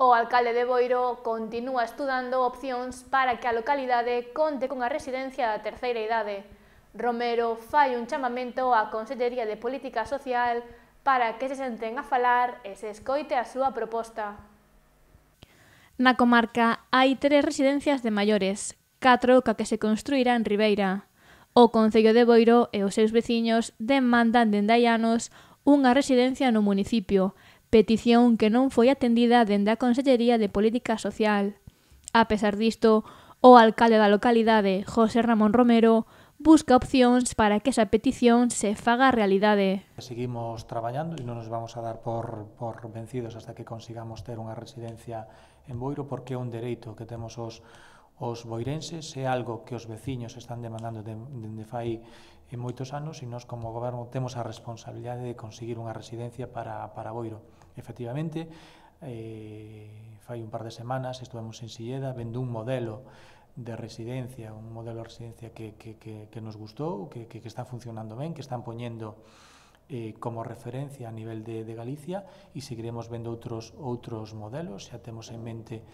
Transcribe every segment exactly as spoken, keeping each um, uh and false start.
O alcalde de Boiro continúa estudando opcións para que a localidade conte cunha residencia da terceira idade. Romero fai un chamamento á Consellería de Política Social para que se senten a falar e se escoite a súa proposta. Na comarca hai tres residencias de maiores, catro ca que se construirá en Ribeira. O Concello de Boiro e os seus veciños demandan dende hai anos unha residencia no municipio, petición que non foi atendida dende a Consellería de Política Social. A pesar disto, o alcalde da localidade, José Ramón Romero, busca opcións para que esa petición se faga realidade. Seguimos traballando e non nos vamos a dar por, por vencidos hasta que consigamos ter unha residencia en Boiro, porque é un dereito que temos os, os boirenses, é algo que os veciños están demandando dende de, fai en moitos anos, e nós como goberno temos a responsabilidade de conseguir unha residencia para, para Boiro. Efectivamente, eh, fai un par de semanas estuvemos en Silleda vendo un modelo de residencia, un modelo de residencia que, que, que, que nos gustou, que, que, que está funcionando ben, que están poñendo eh, como referencia a nivel de, de Galicia, e seguiremos vendo outros, outros modelos, xa temos en mente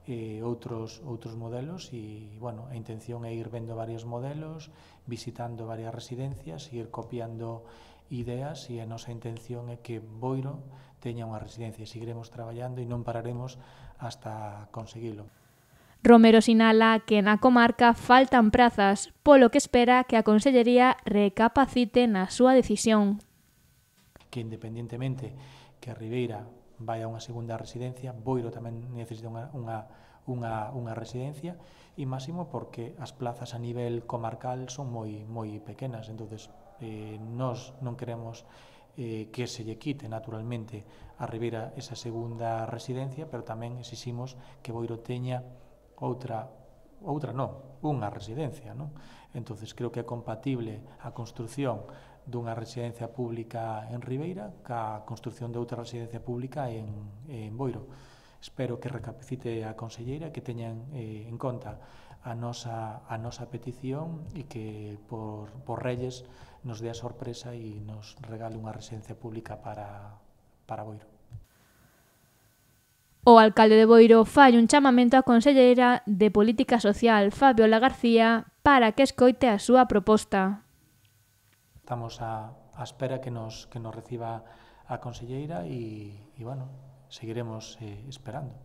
eh, outros, outros modelos, e, bueno, a intención é ir vendo varios modelos, visitando varias residencias, ir copiando ideas, e a nosa intención é que Boiro teña unha residencia, e seguiremos traballando e non pararemos hasta conseguilo. Romero sinala que na comarca faltan prazas, polo que espera que a Consellería recapacite na súa decisión. Que independentemente que a Ribeira vai a unha segunda residencia, Boiro tamén necesita unha, unha, unha, unha residencia, e máximo porque as plazas a nivel comarcal son moi, moi pequenas, entonces eh, nós non queremos eh, que se lle quite naturalmente a Ribeira esa segunda residencia, pero tamén exiximos que Boiro teña outra, outra non, unha residencia, non? Entonces creo que é compatible a construción dunha residencia pública en Ribeira ca construción de outra residencia pública en, en Boiro. Espero que recapacite a conselleira, que teñan eh, en conta a nosa, a nosa petición, e que por, por Reyes nos dé a sorpresa e nos regale unha residencia pública para, para Boiro. O alcalde de Boiro fai un chamamento á Conselleira de Política Social, Fabiola García, para que escoite a súa proposta. Estamos a, a espera que nos, que nos reciba a conselleira, e, e bueno, seguiremos eh, esperando.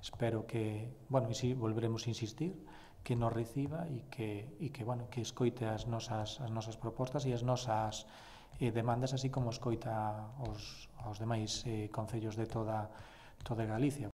Espero que, bueno, e si volveremos a insistir, que nos reciba e que, e que, bueno, que escoite as nosas, as nosas propostas e as nosas eh, demandas, así como escoita os, os demais eh, concellos de toda, toda Galicia.